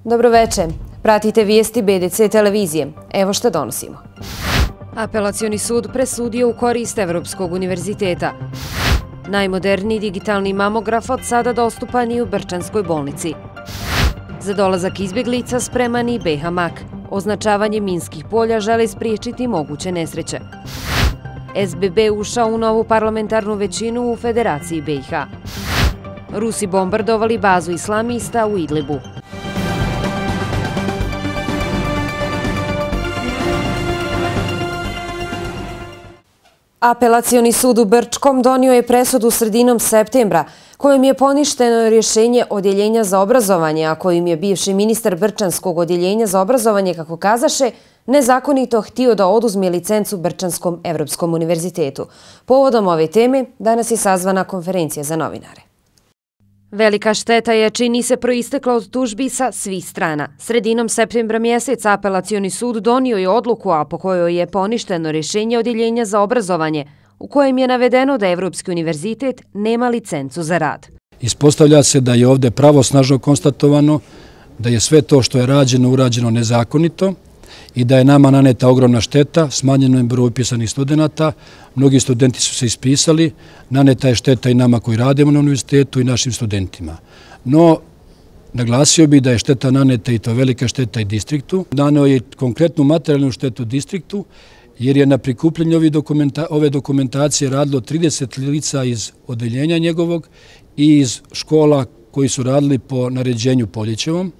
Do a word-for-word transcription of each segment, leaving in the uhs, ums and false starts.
Dobroveče. Pratite vijesti B D C televizije. Evo što donosimo. Apelacioni sud presudio u korist Evropskog univerziteta. Najmoderniji digitalni mamograf od sada dostupan i u Brčanskoj bolnici. Za dolazak izbjeglica spreman i B H Mak. Označavanje minskih polja žele spriječiti moguće nesreće. S B B ušao u novu parlamentarnu većinu u Federaciji B i H. Rusi bombardovali bazu islamista u Idlibu. Apelacioni sud u Brčkom donio je presudu sredinom septembra kojim je poništeno rješenje Odjeljenja za obrazovanje, a kojim je bivši ministar Brčanskog odjeljenja za obrazovanje, kako kazaše, nezakonito htio da oduzme licencu Brčanskom Evropskom univerzitetu. Povodom ove teme danas je sazvana konferencija za novinare. Velika šteta je, čini se, proistekla od tužbi sa svih strana. Sredinom septembra mjeseca Apelacioni sud donio je odluku, a po kojoj je poništeno rješenje Odjeljenja za obrazovanje, u kojem je navedeno da Evropski univerzitet nema licencu za rad. Ispostavlja se da je ovdje pravosnažno konstatovano da je sve to što je rađeno urađeno nezakonito i da je nama naneta ogromna šteta, smanjeno je broj upisanih studenata, mnogi studenti su se ispisali, naneta je šteta i nama koji radimo na univerzitetu i našim studentima. No, naglasio bi da je šteta naneta i to velika šteta i distriktu. Naneo je konkretnu materijalnu štetu distriktu, jer je na prikupljenju ove dokumentacije radilo trideset lica iz odeljenja njegovog i iz škola koji su radili po naređenju Poljićevom.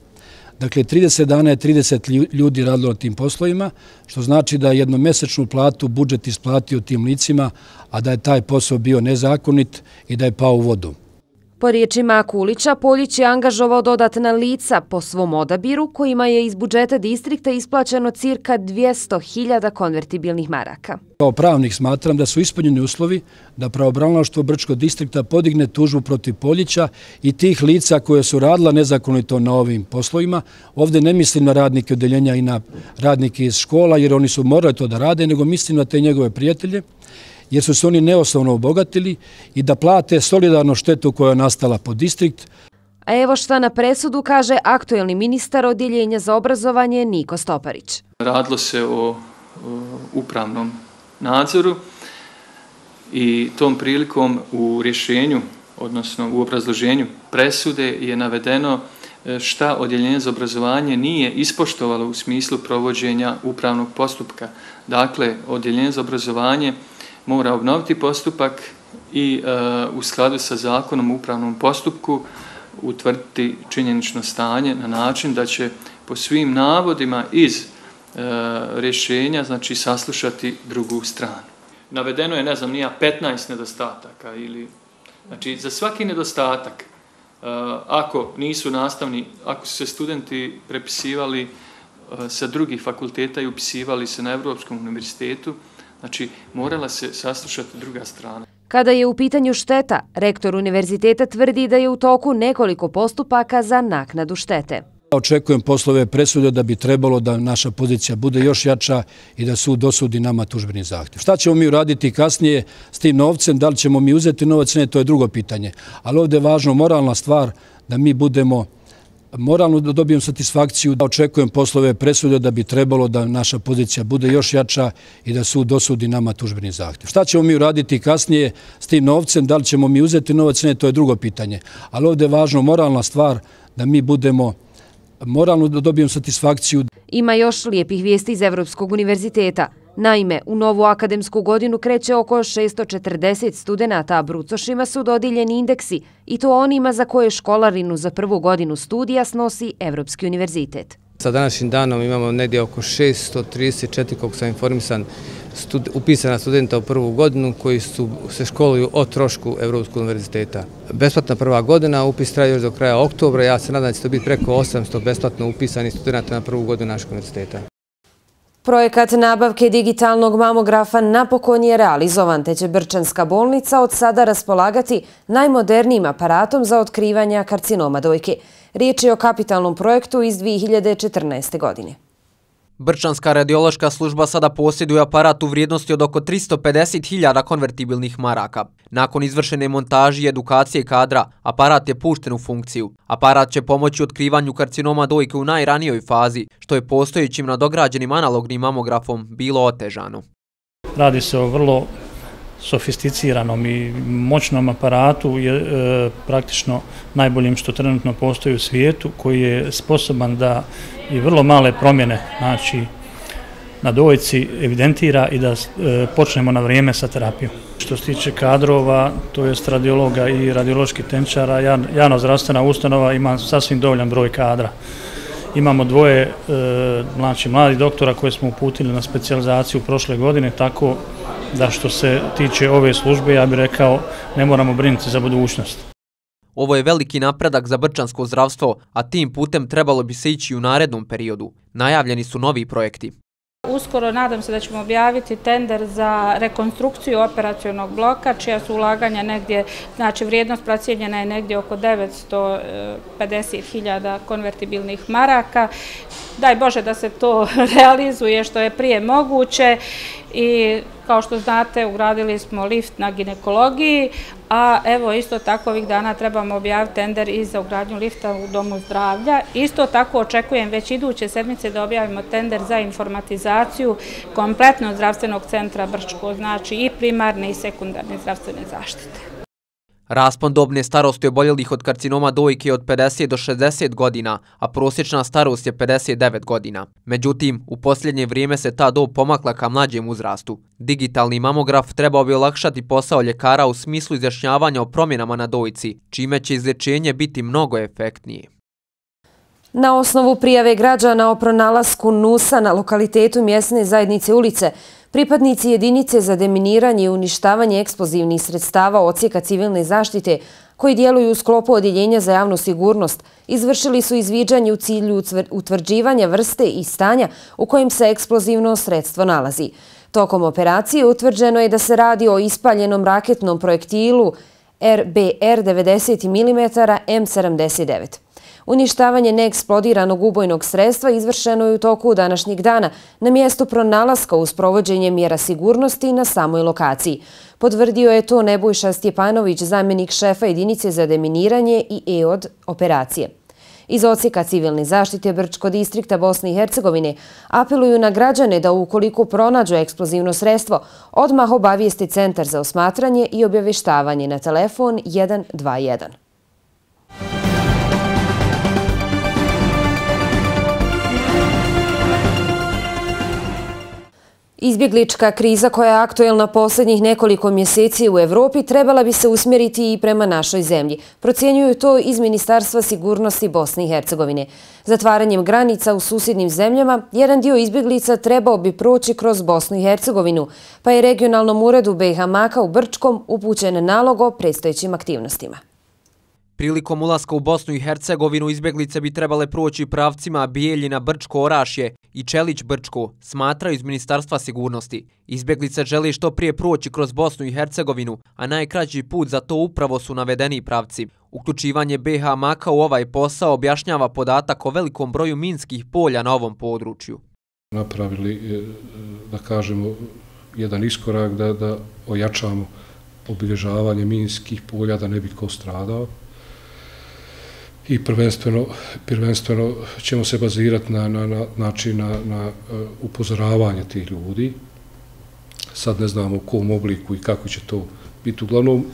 Dakle, trideset dana je trideset ljudi radilo na tim poslovima, što znači da je jednomesečnu platu budžet isplatio tim licima, a da je taj posao bio nezakonit i da je pao u vodu. Po riječima Kulića, Poljić je angažovao dodatna lica po svom odabiru, kojima je iz budžeta distrikta isplaćeno cirka dvjesto hiljada konvertibilnih maraka. Kao pravnik smatram da su ispunjeni uslovi da pravobranilaštvo Brčkog distrikta podigne tužbu protiv Poljića i tih lica koje su radila nezakonito na ovim poslovima. Ovdje ne mislim na radnike odeljenja i na radnike iz škola, jer oni su morali to da rade, nego mislim na te njegove prijatelje, jer su se oni neosnovno obogatili i da plate solidarno štetu koja je nastala po distrikt. A evo šta na presudu kaže aktuelni ministar Odjeljenja za obrazovanje Niko Stoparić. Radilo se o upravnom nadzoru i tom prilikom u rješenju, odnosno u obrazloženju presude je navedeno šta Odjeljenje za obrazovanje nije ispoštovalo u smislu provođenja upravnog postupka. Dakle, Odjeljenje za obrazovanje mora obnoviti postupak i u skladu sa zakonom o upravnom postupku utvrditi činjenično stanje na način da će po svim navodima iz rješenja, znači, saslušati drugu stranu. Navedeno je, ne znam, nija petnaest nedostataka ili, znači, za svaki nedostatak, ako nisu nastavni, ako su se studenti prepisivali sa drugih fakulteta i upisivali se na Evropskom univerzitetu, znači, morala se saslušati druga strana. Kada je u pitanju šteta, rektor univerziteta tvrdi da je u toku nekoliko postupaka za naknadu štete. Očekujem poslove presude da bi trebalo da naša pozicija bude još jača i da sud dosudi nama tužbeni zahtjev. Šta ćemo mi uraditi kasnije s tim novcem? Da li ćemo mi uzeti novac? Ne, to je drugo pitanje. Ali ovdje je važno moralna stvar da mi budemo moralno da dobijem satisfakciju, da očekujem poslove presude da bi trebalo da naša pozicija bude još jača i da sud dosudi nama tužbeni zahtjev. Šta ćemo mi uraditi kasnije s tim novcem? Da li ćemo mi uzeti novac? Ne, to je drugo pitanje. Ali ovdje je važno moralna stvar da mi budemo moralno da dobijem satisfakciju. Ima još lijepih vijesti iz Evropskog univerziteta. Naime, u novu akademsku godinu kreće oko šesto četrdeset studenata, a brucošima su dodijeljeni indeksi i to onima za koje školarinu za prvu godinu studija snosi Evropski univerzitet. Sa današnjim danom imamo negdje oko šesto trideset četiri, koliko sam informisan, upisana studenta u prvu godinu koji su, se školuju o trošku Evropskog univerziteta. Besplatna prva godina, upis traje još do kraja oktobra, ja se nadam da će to biti preko osamsto besplatno upisanih studenta na prvu godinu našeg univerziteta. Projekat nabavke digitalnog mamografa napokon je realizovan, te će Brčanska bolnica od sada raspolagati najmodernijim aparatom za otkrivanje karcinoma dojke. Riječ je o kapitalnom projektu iz dvije hiljade četrnaeste. godine. Brčanska radiološka služba sada posjeduje aparat u vrijednosti od oko tristo pedeset hiljada konvertibilnih maraka. Nakon izvršene montaže i edukacije kadra, aparat je pušten u funkciju. Aparat će pomoći u otkrivanju karcinoma dojke u najranijoj fazi, što je postojećim nadograđenim analognim mamografom bilo otežano. Radi se o vrlo sofisticiranom i moćnom aparatu, je e, praktično najboljim što trenutno postoji u svijetu, koji je sposoban da i vrlo male promjene, znači na dojci, evidentira i da e, počnemo na vrijeme sa terapijom. Što se tiče kadrova, to jest radiologa i radioloških tehničara, javna zdravstvena ustanova ima sasvim dovoljan broj kadra. Imamo dvoje e, znači, mladih doktora koje smo uputili na specijalizaciju prošle godine, tako da što se tiče ove službe, ja bih rekao, ne moramo brinuti za budućnost. Ovo je veliki napredak za brčansko zdravstvo, a tim putem trebalo bi se ići u narednom periodu. Najavljeni su novi projekti. Uskoro nadam se da ćemo objaviti tender za rekonstrukciju operacionog bloka, čija su ulaganja negdje, znači vrijednost procijenjena je negdje oko devetsto pedeset hiljada konvertibilnih maraka. Daj Bože da se to realizuje što je prije moguće i kao što znate ugradili smo lift na ginekologiji, a evo isto tako ovih dana trebamo objaviti tender i za ugradnju lifta u domu zdravlja. Isto tako očekujem već iduće sedmice da objavimo tender za informatizaciju kompletnog zdravstvenog centra Brčko, znači i primarne i sekundarne zdravstvene zaštite. Raspon dobne starosti oboljelih od karcinoma dojke je od pedeset do šezdeset godina, a prosječna starost je pedeset devet godina. Međutim, u posljednje vrijeme se ta dob pomakla ka mlađem uzrastu. Digitalni mamograf trebao bi olakšati posao ljekara u smislu izjašnjavanja o promjenama na dojci, čime će izlječenje biti mnogo efektnije. Na osnovu prijave građana o pronalasku nusa na lokalitetu mjesne zajednice Ulice, pripadnici jedinice za deminiranje i uništavanje eksplozivnih sredstava odsjeka civilne zaštite, koji djeluju u sklopu Odjeljenja za javnu sigurnost, izvršili su izviđanje u cilju utvrđivanja vrste i stanja u kojem se eksplozivno sredstvo nalazi. Tokom operacije utvrđeno je da se radi o ispaljenom raketnom projektilu R B R devedeset milimetara M sedamdeset devet. Uništavanje neeksplodiranog ubojnog sredstva izvršeno je u toku današnjeg dana na mjestu pronalaska uz provođenje mjera sigurnosti na samoj lokaciji. Potvrdio je to Nebojša Stjepanović, zamjenik šefa jedinice za deminiranje i E O D operacije. Iz odsjeka civilne zaštite Brčko distrikta Bosne i Hercegovine apeluju na građane da ukoliko pronađu eksplozivno sredstvo, odmah obavijeste Centar za osmatranje i obavještavanje na telefon jedan dva jedan. Izbjeglička kriza koja je aktuelna posljednjih nekoliko mjeseci u Evropi trebala bi se usmjeriti i prema našoj zemlji. Procjenjuju to iz Ministarstva sigurnosti Bosne i Hercegovine. Zatvaranjem granica u susjednim zemljama, jedan dio izbjeglica trebao bi proći kroz Bosnu i Hercegovinu, pa je regionalnom uredu B iH Maka u Brčkom upućen nalog o predstojećim aktivnostima. Prilikom ulaska u Bosnu i Hercegovinu izbjeglice bi trebale proći pravcima Bijeljina, Brčko, Orašje i Čelić, Brčko, smatraju iz Ministarstva sigurnosti. Izbjeglice žele što prije proći kroz Bosnu i Hercegovinu, a najkraći put za to upravo su navedeni pravci. Uključivanje B iH Maka u ovaj posao objašnjava podatak o velikom broju minskih polja na ovom području. Napravili, da kažemo, jedan iskorak da, da ojačamo obilježavanje minskih polja, da ne bi ko stradao. I prvenstveno, prvenstveno ćemo se bazirati na, na, na, znači na, na upozoravanje tih ljudi. Sad ne znamo u kom obliku i kako će to biti. Uglavnom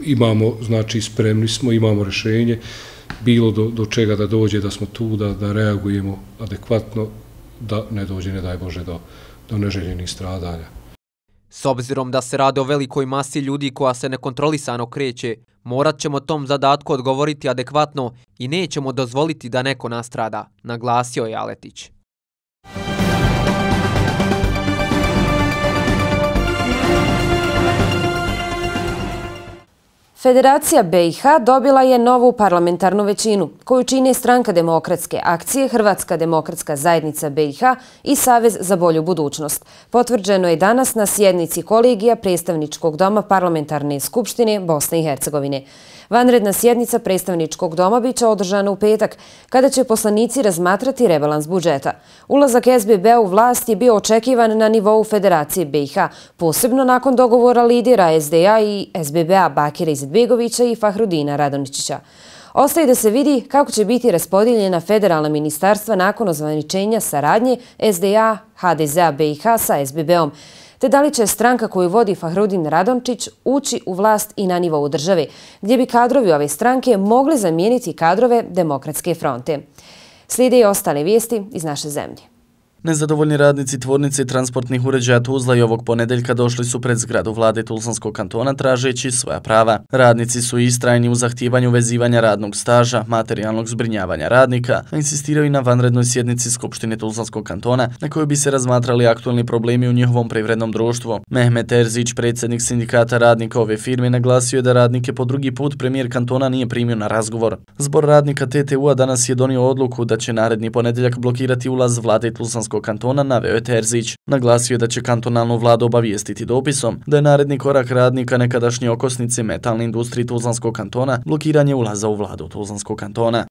imamo, znači spremni smo, imamo rješenje, bilo do, do čega da dođe, da smo tu, da, da reagujemo adekvatno, da ne dođe, ne daj Bože, do, do neželjenih stradanja. S obzirom da se radi o velikoj masi ljudi koja se nekontrolisano kreće, morat ćemo tom zadatku odgovoriti adekvatno i nećemo dozvoliti da neko nastrada, naglasio je Aletić. Federacija B i H dobila je novu parlamentarnu većinu, koju čine Stranka demokratske akcije, Hrvatska demokratska zajednica B i H i Savez za bolju budućnost. Potvrđeno je danas na sjednici kolegija Predstavničkog doma Parlamentarne skupštine Bosne i Hercegovine. Vanredna sjednica Predstavničkog doma biće održana u petak, kada će poslanici razmatrati rebalans budžeta. Ulazak S B B-a u vlast je bio očekivan na nivou Federacije B i H, posebno nakon dogovora lidera S D A i S B B-a Bakira Izetbegovića i Fahrudina Radončića. Ostaje da se vidi kako će biti raspodijeljena federalna ministarstva nakon ozvaničenja saradnje S D A, H D Z-a B i H sa S B B-om, te da li će stranka koju vodi Fahrudin Radončić ući u vlast i na nivou države, gdje bi kadrovi ove stranke mogli zamijeniti kadrove Demokratske fronte. Slijede i ostale vijesti iz naše zemlje. Nezadovoljni radnici tvornice transportnih uređaja Tuzla i ovog ponedeljka došli su pred zgradu vlade Tuzlanskog kantona tražeći svoja prava. Radnici su istrajni u zahtijevanju vezivanja radnog staža, materijalnog zbrinjavanja radnika, a insistiraju i na vanrednoj sjednici Skupštine Tuzlanskog kantona na kojoj bi se razmatrali aktualni problemi u njihovom privrednom društvu. Mehmet Terzić, predsjednik sindikata radnika ove firme, naglasio je da radnike po drugi put premijer kantona nije primio na razgovor. Zbor radnika T T U-a danas je donio odluku da će naredni ponedeljak blokirati ulaz vlade Tuzlanskog kantona, naveo je Terzić. Naglasio je da će kantonalnu vladu obavijestiti dopisom da je naredni korak radnika nekadašnje okosnice metalne industrije Tuzlanskog kantona blokiranje ulaza u vladu Tuzlanskog kantona.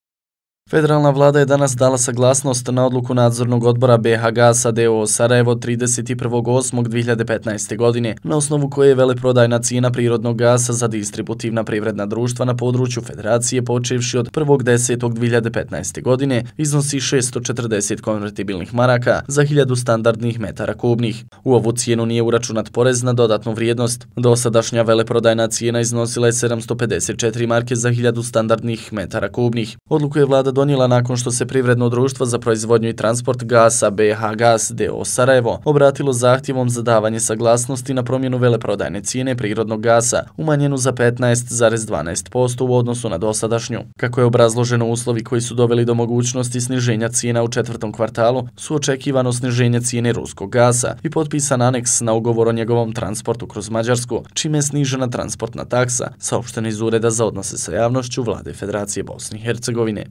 Federalna vlada je danas dala saglasnost na odluku nadzornog odbora B H Gasa d o o Sarajevo trideset prvog osmog dve hiljade petnaeste. godine, na osnovu koje je veleprodajna cijena prirodnog gasa za distributivna privredna društva na području Federacije počevši od prvog desetog dve hiljade petnaeste. godine iznosi šessto četrdeset konvertibilnih maraka za hiljadu standardnih metara kubnih. U ovu cijenu nije uračunat porez na dodatnu vrijednost. Dosadašnja veleprodajna cijena iznosila je sedamsto pedeset četiri marke za hiljadu standardnih metara kubnih. Odluku je vlada donijela nakon što se Privredno društvo za proizvodnju i transport gasa B H Gas d o o Sarajevo obratilo zahtjevom za davanje saglasnosti na promjenu veleprodajne cijene prirodnog gasa, umanjenu za petnaest zarez dvanaest posto u odnosu na dosadašnju. Kako je obrazloženo, uslovi koji su doveli do mogućnosti sniženja cijena u četvrtom kvartalu su očekivano sniženje cijene ruskog gasa i potpisan aneks na ugovor o njegovom transportu kroz Mađarsku, čime je snižena transportna taksa, saopšteno iz Ureda za odnose sa javnošću Vlade Federacije Bosne i Hercegovine.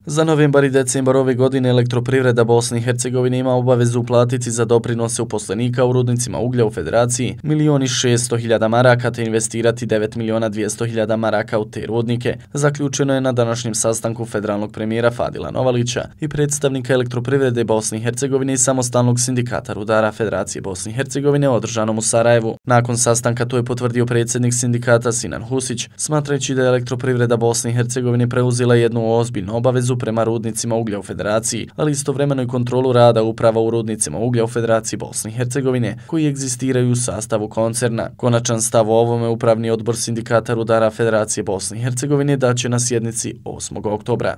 Za novembar i decembar ove godine Elektroprivreda Bosne i Hercegovine ima obavezu uplatiti za doprinose uposlenika u rudnicima uglja u Federaciji milion i šesto hiljada maraka te investirati devet miliona dvjesto hiljada maraka u te rudnike. Zaključeno je na današnjem sastanku federalnog premijera Fadila Novalića i predstavnika Elektroprivrede Bosne i Hercegovine i samostalnog sindikata rudara Federacije Bosne i Hercegovine održanom u Sarajevu. Nakon sastanka to je potvrdio predsjednik sindikata Sinan Husić, smatrajući da je Elektroprivreda Bosne i Hercegovine preuzela jednu ozbiljnu obavezu prema rudnicima uglja u Federaciji, ali istovremeno i kontrolu rada uprava u rudnicima uglja u Federaciji Bosne i Hercegovine, koji egzistiraju u sastavu koncerna. Konačan stav o ovome upravni odbor sindikata rudara Federacije Bosne i Hercegovine daće na sjednici osmog oktobra.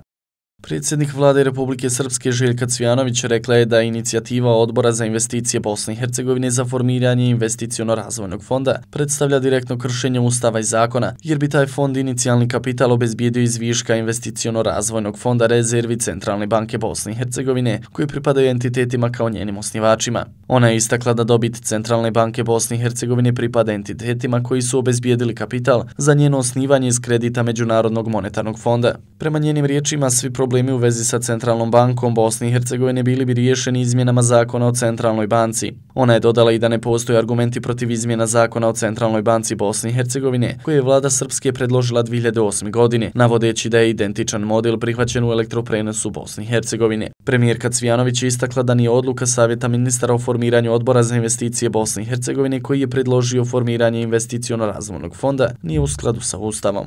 Predsjednik vlade Republike Srpske Željka Cvijanović rekla je da inicijativa Odbora za investicije Bosne i Hercegovine za formiranje investiciono-razvojnog fonda predstavlja direktno kršenje Ustava i zakona, jer bi taj fond inicijalni kapital obezbijedio iz viška investiciono-razvojnog fonda rezervi Centralne banke Bosne i Hercegovine, koji pripadaju entitetima kao njenim osnivačima. Ona je istakla da dobit Centralne banke Bosne i Hercegovine pripada entitetima koji su obezbijedili kapital za njeno osnivanje iz kredita Međunarodnog monetarnog fonda. Prema njenim riječima, svi problemi u vezi sa Centralnom bankom Bosne i Hercegovine bili bi riješeni izmjenama zakona o Centralnoj banci. Ona je dodala i da ne postoje argumenti protiv izmjena zakona o Centralnoj banci Bosne i Hercegovine, koje je vlada Srpske predložila dve hiljade osme. godine, navodeći da je identičan model prihvaćen u elektroprenosu Bosne i Hercegovine. Premijerka Cvijanović je istakla da nije odluka Savjeta ministara o formiranju Odbora za investicije Bosne i Hercegovine, koji je predložio formiranje investiciono-razvojnog fonda, nije u skladu sa Ustavom.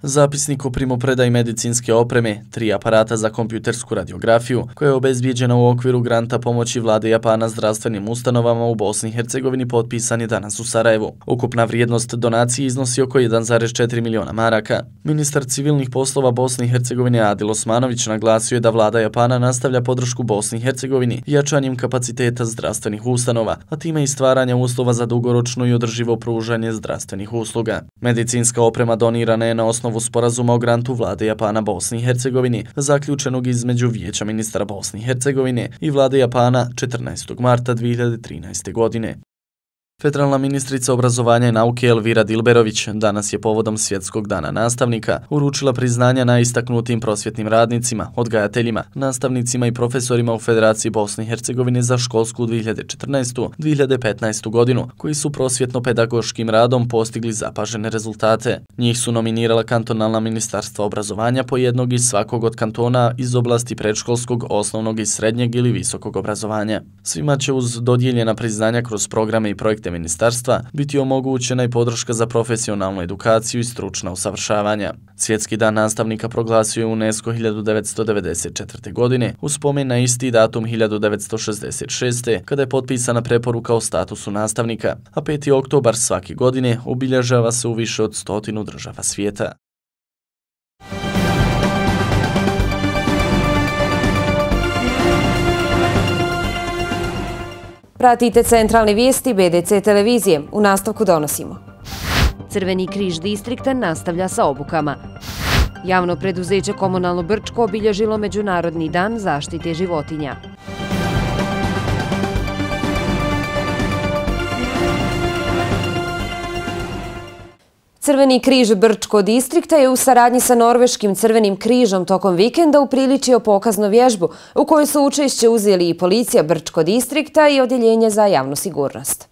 Zapisnik o primopredaji medicinske opreme, tri aparata za kompjutersku radiografiju, koja je obezbijeđena u okviru granta pomoći vlade Japana zdravstvenim ustanovama u Bosni i Hercegovini, potpisan je danas u Sarajevu. Ukupna vrijednost donacije iznosi oko jedan zarez četiri miliona maraka. Ministar civilnih poslova Bosne i Hercegovine Adil Osmanović naglasio je da vlada Japana nastavlja podršku Bosni i Hercegovini jačanjem kapaciteta zdravstvenih ustanova, a time i stvaranja uslova za dugoročno i održivo pružanje zdravstvenih usluga. Medicinska oprema donirana je na osnovu sporazuma o grantu vlade Japana Bosni i Hercegovini, zaključenog između Vijeća ministara Bosne i Hercegovine i vlade Japana četrnaestog marta dve hiljade trinaeste. godine. Federalna ministrica obrazovanja i nauke Elvira Dilberović danas je povodom Svjetskog dana nastavnika uručila priznanja najistaknutim prosvjetnim radnicima, odgajateljima, nastavnicima i profesorima u Federaciji Bosne i Hercegovine za školsku dvije hiljade četrnaestu dvije hiljade petnaestu godinu, koji su prosvjetno-pedagoškim radom postigli zapažene rezultate. Njih su nominirala kantonalna ministarstva obrazovanja po jednog iz svakog od kantona iz oblasti predškolskog, osnovnog i srednjeg ili visokog obrazovanja. Svima će uz dodijeljena priznanja kroz programe i projekte ministarstva biti omogućena i podrška za profesionalnu edukaciju i stručna usavršavanja. Svjetski dan nastavnika proglasio je UNESCO hiljadu devetsto devedeset četvrte. godine u spomen na isti datum hiljadu devetsto šezdeset šeste. kada je potpisana preporuka o statusu nastavnika, a peti oktobar svake godine obilježava se u više od stotinu država svijeta. Pratite centralne vijesti B D C televizije. U nastavku donosimo. Crveni križ distrikta nastavlja sa obukama. Javno preduzeće Komunalno Brčko obilježilo Međunarodni dan zaštite životinja. Crveni križ Brčko distrikta je u saradnji sa Norveškim crvenim križom tokom vikenda upriličio pokaznu vježbu u kojoj su učešće uzeli i policija Brčko distrikta i odjeljenje za javnu sigurnost.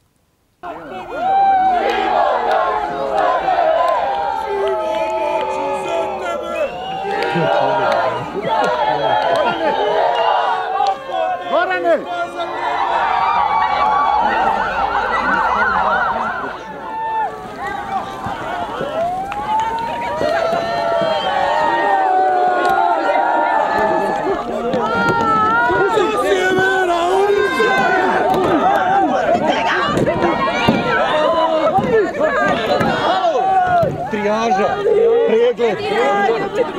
Trijaža, pregled.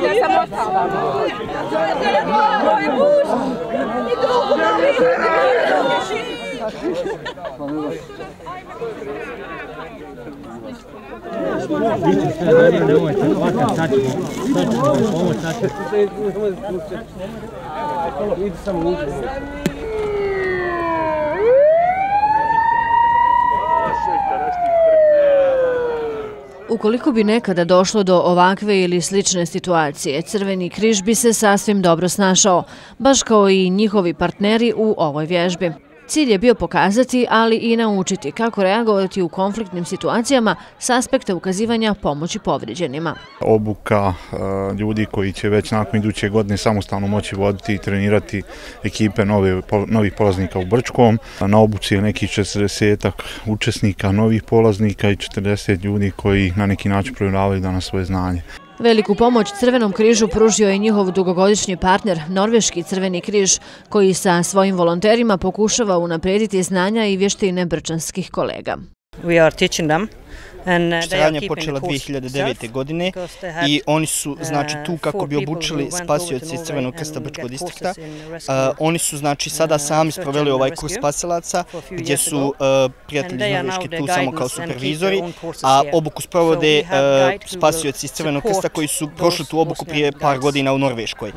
Ja sam ostala. Moj muž. I drugo na Ukoliko bi nekada došlo do ovakve ili slične situacije, Crveni križ bi se sasvim dobro snašao, baš kao i njihovi partneri u ovoj vježbi. Cilj je bio pokazati, ali i naučiti kako reagovati u konfliktnim situacijama s aspekta ukazivanja pomoći povrijeđenima. Obuka ljudi koji će već nakon iduće godine samostalno moći voditi i trenirati ekipe novih polaznika u Brčkom. Na obuci je nekih četrdesetak učesnika novih polaznika i četrdeset ljudi koji na neki način provjeravaju danas svoje znanje. Veliku pomoć Crvenom križu pružio je njihov dugogodišnji partner, Norveški crveni križ, koji sa svojim volonterima pokušava unaprijediti znanja i vještine brčanskih kolega. Štrajanje je počela dvije hiljade devete. godine i oni su znači tu kako bi obučili spasioci iz Crvenog krsta Brčkog distrikta. Oni su znači sada sami sproveli ovaj kurs spasilaca gdje su prijatelji iz Norveške tu samo kao supervizori, a obuku sprovode spasioci iz Crvenog krsta koji su prošli tu obuku prije par godina u Norveškoj.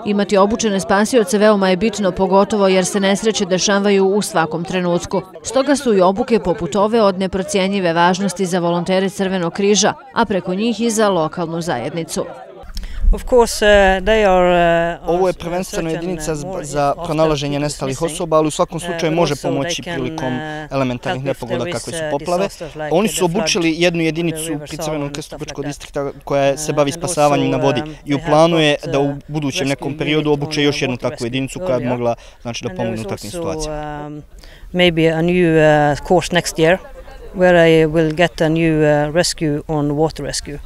Imati obučene spasioce veoma je bitno, pogotovo jer se nesreće dešavaju u svakom trenutku. Stoga su i obuke poput ove od neprocijenjive važnosti za volontere Crvenog križa, a preko njih i za lokalnu zajednicu. Ovo je prvenstveno jedinica za pronalaženje nestalih osoba, ali u svakom slučaju može pomoći prilikom elementarnih nepogoda kakve su poplave. Oni su obučili jednu jedinicu pri Crvenom krstu Brčkog distrikta koja se bavi spasavanjem na vodi i u planu je da u budućem nekom periodu obuče još jednu takvu jedinicu koja bi mogla znači, da pomogne u takvim situacijama. Maybe a new course next year where I will get a new rescue on water rescue.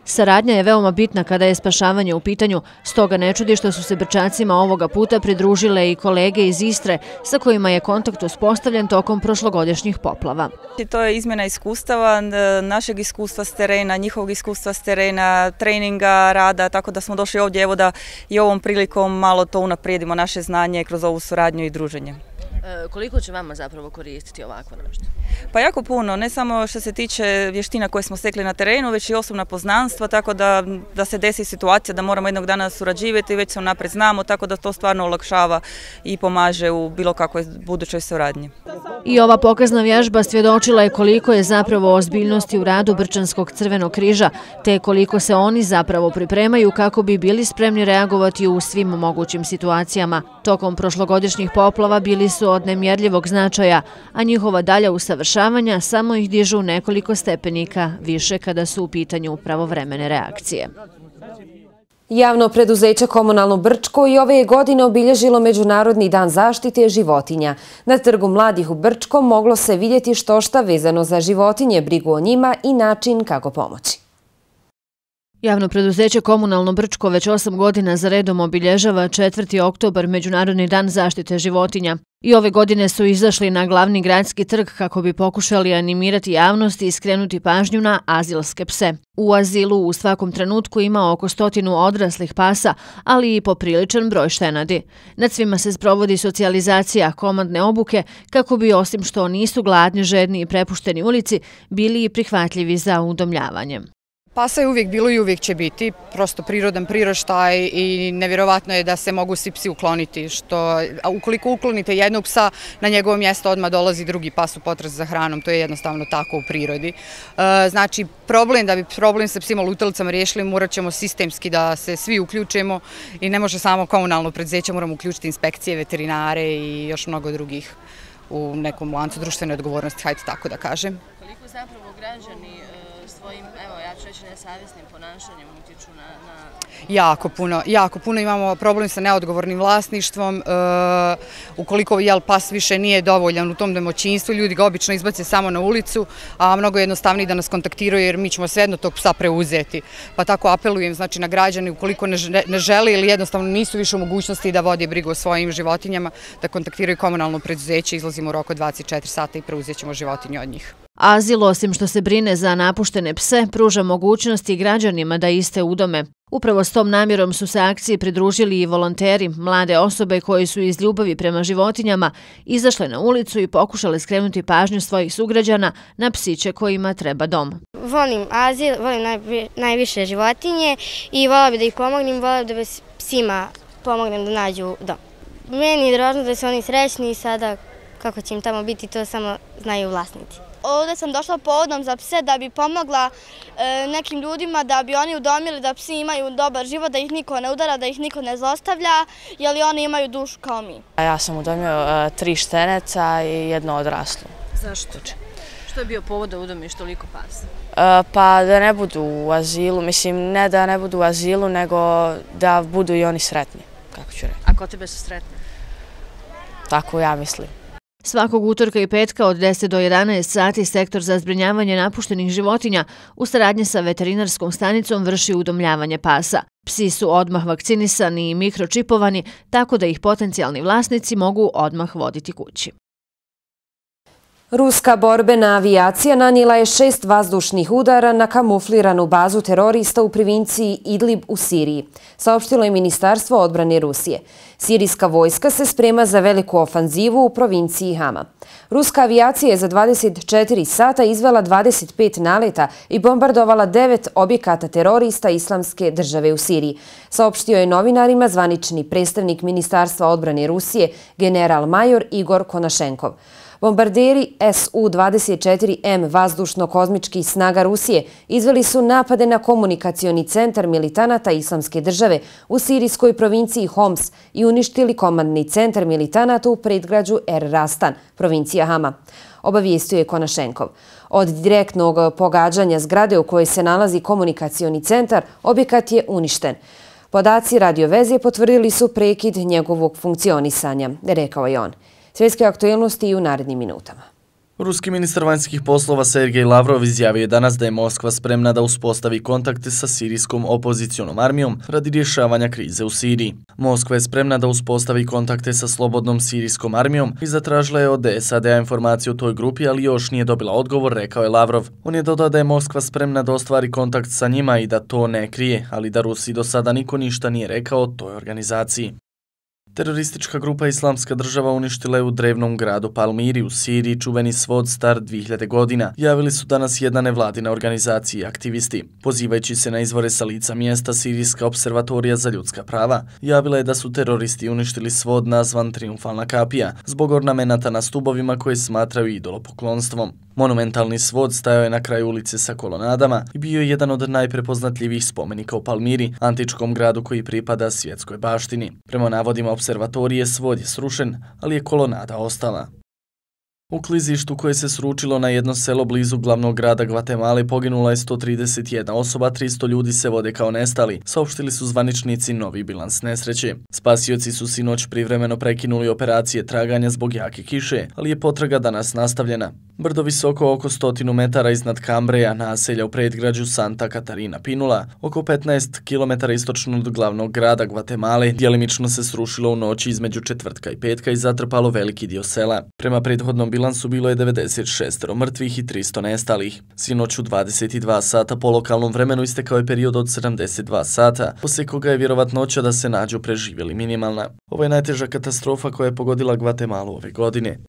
Saradnja je veoma bitna kada je spašavanje u pitanju, stoga ne čudi što su se Brčacima ovoga puta pridružile i kolege iz Istre sa kojima je kontakt uspostavljen tokom prošlogodišnjih poplava. To je izmjena iskustava, našeg iskustva s terena, njihovog iskustva s terena, treninga, rada, tako da smo došli ovdje evo da i ovom prilikom malo to unaprijedimo naše znanje kroz ovu suradnju i druženje. Koliko će vama zapravo koristiti ovako nešto? Pa jako puno, ne samo što se tiče vještina koje smo stekli na terenu, već i osobna poznanstva, tako da, da se desi situacija da moramo jednog dana surađivati, već se unaprijed znamo, tako da to stvarno olakšava i pomaže u bilo kakvoj budućoj suradnji. I ova pokazna vježba svjedočila je koliko je zapravo ozbiljnosti u radu Brčanskog crvenog križa, te koliko se oni zapravo pripremaju kako bi bili spremni reagovati u svim mogućim situacijama. Tokom prošlogodišnjih poplava bili su od nemjerljivog značaja, a njihova dalja usavršavanja samo ih dižu nekoliko stepenika više kada su u pitanju pravovremene reakcije. Javno preduzeće Komunalno Brčko i ove godine obilježilo Međunarodni dan zaštite životinja. Na Trgu mladih u Brčkom moglo se vidjeti što šta vezano za životinje, brigu o njima i način kako pomoći. Javno preduzeće Komunalno Brčko već osam godina za redom obilježava četvrti oktobar Međunarodni dan zaštite životinja. I ove godine su izašli na glavni gradski trg kako bi pokušali animirati javnost i skrenuti pažnju na azilske pse. U azilu u svakom trenutku ima oko stotinu odraslih pasa, ali i popriličan broj štenadi. Nad svima se sprovodi socijalizacija, komandne obuke, kako bi osim što nisu gladni, žedni i prepušteni ulici, bili i prihvatljivi za udomljavanje. Pasa je uvijek bilo i uvijek će biti, prosto prirodan priraštaj i nevjerovatno je da se mogu svi psi ukloniti, što a ukoliko uklonite jednog psa, na njegovo mjesto odmah dolazi drugi pas u potrazi za hranom, to je jednostavno tako u prirodi. E, znači, problem da bi problem sa psima lutalicama riješili, morat ćemo sistemski da se svi uključimo i ne može samo komunalno preduzeće, moramo uključiti inspekcije, veterinare i još mnogo drugih u nekom lancu društvene odgovornosti, hajde tako da kažem. Koliko zapravo građani svojim, evo ja ću reći, nesavjesnim ponašanjem utječu na... na... Jako puno, jako puno imamo problem sa neodgovornim vlasništvom. E, ukoliko jel, pas više nije dovoljan u tom domaćinstvu, ljudi ga obično izbace samo na ulicu, a mnogo jednostavnije da nas kontaktiraju jer mi ćemo svejedno tog psa preuzeti. Pa tako apelujem znači, na građane ukoliko ne, ne žele ili jednostavno nisu više u mogućnosti da vode brigu o svojim životinjama, da kontaktiraju komunalno preduzeće, izlazimo u roku dvadeset četiri sata i preuzet ćemo životinje od njih. Azil, osim što se brine za napuštene pse, pruža mogućnosti građanima da iste udome. Upravo s tom namjerom su se akciji pridružili i volonteri, mlade osobe koji su iz ljubavi prema životinjama izašle na ulicu i pokušale skrenuti pažnju svojih sugrađana na psiće kojima treba dom. Volim azil, volim najviše životinje i volim da ih pomognem, volim da psima pomognem da nađu dom. Meni je dražno da su oni srećni i sada kako će im tamo biti, to samo znaju vlasnici. Ovdje sam došla povodom za pse da bi pomogla e, nekim ljudima da bi oni udomili da psi imaju dobar život, da ih niko ne udara, da ih niko ne zlostavlja, jer oni imaju dušu kao mi. Ja sam udomio e, tri šteneca i jedno odraslo. Zašto? Što je bio povod da udomiš toliko pasa? E, pa da ne budu u azilu, mislim ne da ne budu u azilu, nego da budu i oni sretni, kako ću reći. A ko tebe su sretni? Tako ja mislim. Svakog utorka i petka od deset do jedanaest sati sektor za zbrinjavanje napuštenih životinja u saradnji sa veterinarskom stanicom vrši udomljavanje pasa. Psi su odmah vakcinisani i mikročipovani, tako da ih potencijalni vlasnici mogu odmah voditi kući. Ruska borbena avijacija nanijela je šest vazdušnih udara na kamufliranu bazu terorista u provinciji Idlib u Siriji, saopštilo je Ministarstvo odbrane Rusije. Sirijska vojska se sprema za veliku ofanzivu u provinciji Hama. Ruska avijacija je za dvadeset četiri sata izvela dvadeset pet naleta i bombardovala devet objekata terorista Islamske države u Siriji, saopštio je novinarima zvanični predstavnik Ministarstva odbrane Rusije, general major Igor Konašenkov. Bombarderi S U dvadeset četiri M vazdušno-kozmičkih snaga Rusije izveli su napade na komunikacioni centar militanata Islamske države u sirijskoj provinciji Homs i uništili komandni centar militanata u predgrađu Er Rastan, provincija Hama. Obavijestio je Konašenkov. Od direktnog pogađanja zgrade u kojoj se nalazi komunikacioni centar, objekat je uništen. Podaci radioveze potvrdili su prekid njegovog funkcionisanja, rekao je on. Svjetske aktualnosti i u narednim minutama. Ruski ministar vanjskih poslova Sergej Lavrov izjavio je danas da je Moskva spremna da uspostavi kontakte sa sirijskom opozicionom armijom radi rješavanja krize u Siriji. Moskva je spremna da uspostavi kontakte sa slobodnom sirijskom armijom i zatražila je od S A D-a informaciju o toj grupi, ali još nije dobila odgovor, rekao je Lavrov. On je dodao da je Moskva spremna da ostvari kontakt sa njima i da to ne krije, ali da Rusiji do sada niko ništa nije rekao o toj organizaciji. Teroristička grupa Islamska država uništila je u drevnom gradu Palmiri u Siriji čuveni svod star dvije hiljade godina, javili su danas jedna nevladina organizacija i aktivisti. Pozivajući se na izvore sa lica mjesta, Sirijska observatorija za ljudska prava javila je da su teroristi uništili svod nazvan Triumfalna kapija zbog ornamenata na stubovima koje smatraju idolopoklonstvom. Monumentalni svod stajao je na kraju ulice sa kolonadama i bio je jedan od najprepoznatljivijih spomenika u Palmiri, antičkom gradu koji pripada svjetskoj baštini. Prema navodima observatorije, svod je srušen, ali je kolonada ostala. U klizištu koje se sručilo na jedno selo blizu glavnog grada Gvatemale poginula je sto trideset jedna osoba, tristo ljudi se vode kao nestali, saopštili su zvaničnici novi bilans nesreće. Spasioci su sinoć privremeno prekinuli operacije traganja zbog jake kiše, ali je potraga danas nastavljena. Brdo visoko oko stotinu metara iznad Cambreja, naselja u predgrađu Santa Catarina Pinula, oko petnaest kilometara istočno od glavnog grada Gvatemale, djelimično se srušilo u noći između četvrtka i petka i zatrpalo veliki dio sela. Prema prethodnom bilansu bilo je devedeset šest mrtvih i tristo nestalih. Sinoć u dvadeset dva sata po lokalnom vremenu istekao je period od sedamdeset dva sata, poslije koga je vjerovatnoća da se nađu preživjeli minimalna. Ovo je najteža katastrofa koja je pogodila Gvatemalu ove godine.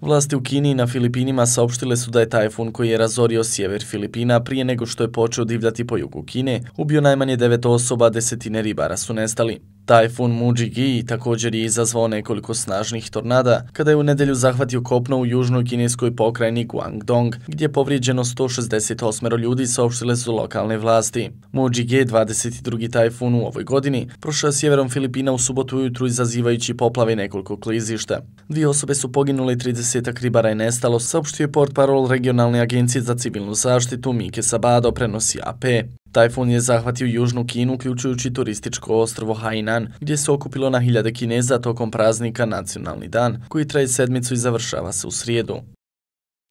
Vlasti u Kini i na Filipinima saopštile su da je tajfun koji je razorio sjever Filipina prije nego što je počeo divljati po jugu Kine, ubio najmanje devet osoba, desetine ribara su nestali. Tajfun Mujigi također je izazvao nekoliko snažnih tornada kada je u nedjelju zahvatio kopno u južnoj kineskoj pokrajini Guangdong, gdje je povrijeđeno sto šezdeset osam ljudi, saopštile su lokalne vlasti. Mujigi, dvadeset drugi tajfun u ovoj godini, prošao sjeverom Filipina u subotu ujutru izazivajući poplave nekoliko klizišta. Dvije osobe su poginule i tridesetak ribara je nestalo, saopštio je portparol regionalne agencije za civilnu zaštitu Mike Sabado, prenosi A P. Tajfun je zahvatio južnu Kinu, uključujući turističko ostrvo Hainan, gdje se okupilo na hiljade Kineza tokom praznika Nacionalni dan, koji traje sedmicu i završava se u srijedu.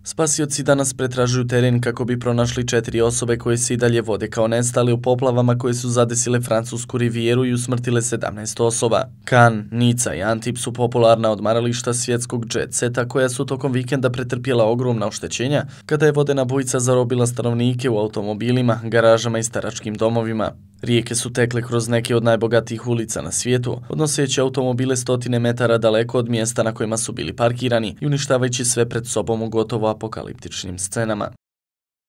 Spasioci danas pretražuju teren kako bi pronašli četiri osobe koje se i dalje vode kao nestali u poplavama koje su zadesile Francusku rivijeru i usmrtile sedamnaest osoba. Cannes, Nica i Antibes su popularna odmarališta svjetskog jet seta koja su tokom vikenda pretrpjela ogromna oštećenja kada je vodena bujica zarobila stanovnike u automobilima, garažama i staračkim domovima. Rijeke su tekle kroz neke od najbogatijih ulica na svijetu, odnoseći automobile stotine metara daleko od mjesta na kojima su bili parkirani i uništavajući sve pred sobom u gotovo apokaliptičnim scenama.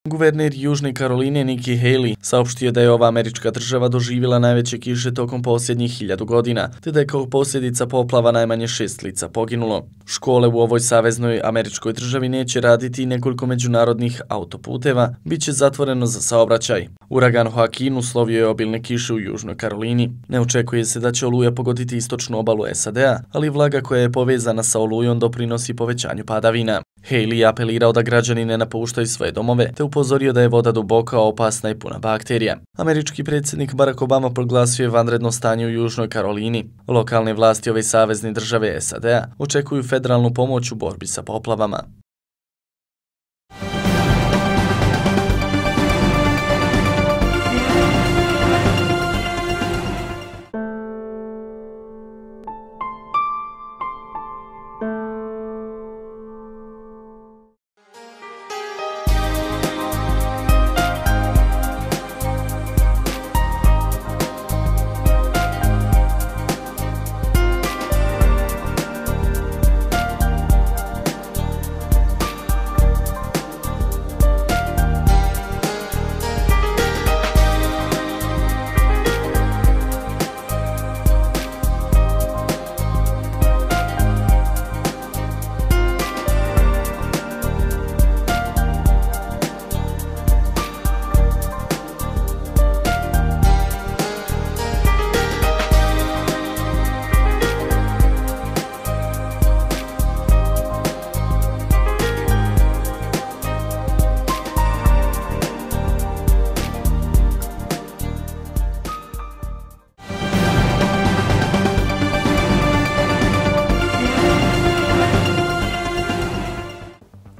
Guverner Južne Karoline Nikki Haley saopštio da je ova američka država doživjela najveće kiše tokom posljednjih hiljadu godina, te da je kao posljedica poplava najmanje šest lica poginulo. Škole u ovoj saveznoj američkoj državi neće raditi i nekoliko međunarodnih autoputeva, bit će zatvoreno za saobraćaj. Uragan Joaquin uslovio je obilne kiše u Južnoj Karolini. Ne očekuje se da će oluja pogoditi istočnu obalu S A D-a, ali vlaga koja je povezana sa olujom doprinosi povećanju padavina. Haley je apelirao da građani ne napuštaju svoje domove, te upozorio da je voda duboka, opasna i puna bakterija. Američki predsjednik Barack Obama proglasio je vanredno stanje u Južnoj Karolini. Lokalne vlasti ove savezne države S A D-a očekuju federalnu pomoć u borbi sa poplavama.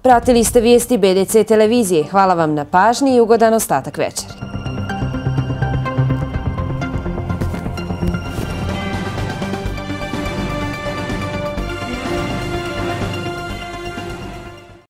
Pratili ste vijesti B D C televizije. Hvala vam na pažnji i ugodan ostatak večeri.